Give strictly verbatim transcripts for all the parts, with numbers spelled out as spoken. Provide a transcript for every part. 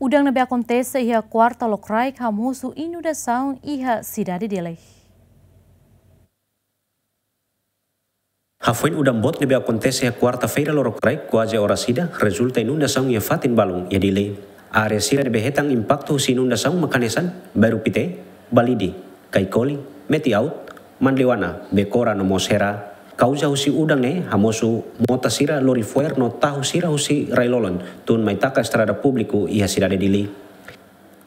Udan ne'ebé akontese iha kuarta lokraik hamosu inundasaun iha sidade Dili. Hafoin udan boot ne'ebé akontese iha kuarta-feira lokraik kuaze oras ida rezulta inundasaun iha fatin balun iha Dili. Área sira ne'ebé hetan impaktu husi inundasaun mak hanesan Bairru Pité, Balide, Caicoli, Metiaut, Manleuana, Becora no mós Hera. Kauza husi udan ne'e hamosu mota sira lori fo'er no tahu sira husi rai-lolon tun mai taka estrada públiku iha sidade Dili.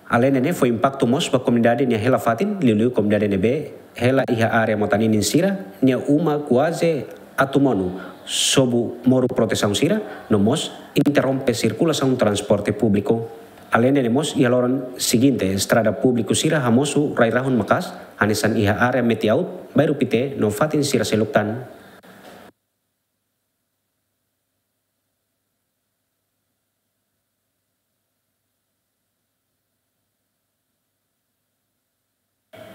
Alende ne'e fó impaktu mós ba komunidade nia hela fatin, liuliu komunidade ne'ebé hela iha área mota ninin sira, nia uma kuaze atu monu, sobu moru protesaun sira, no mós interrompe sirkulasaun transporte públiku. Alende ne'e mós iha loron siginte, estrada públiku sira hamosu rai-rahun maka'as, hanesan iha área Metiaut, Bairru Pité, no fatin sira seluk tan.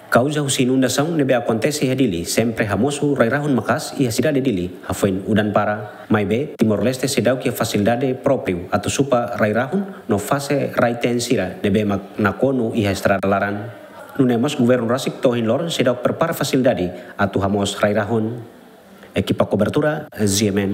Kauza husi inundasaun ne'ebé akontese iha Dili, sempre hamosu rai-rahun maka'as iha sidade Dili, hafoin udan para. Maibé, Timor-Leste seidauk iha fasilidade própriu atu supa rai-rahun no fase rai-teen sira ne'ebé mak nakonu iha estrada laran. Nune'e mós governu rasik to'o ohin loron seidauk prepara fasilidade atu hamoos rai-rahun. Ekipa kobertura, Z M N.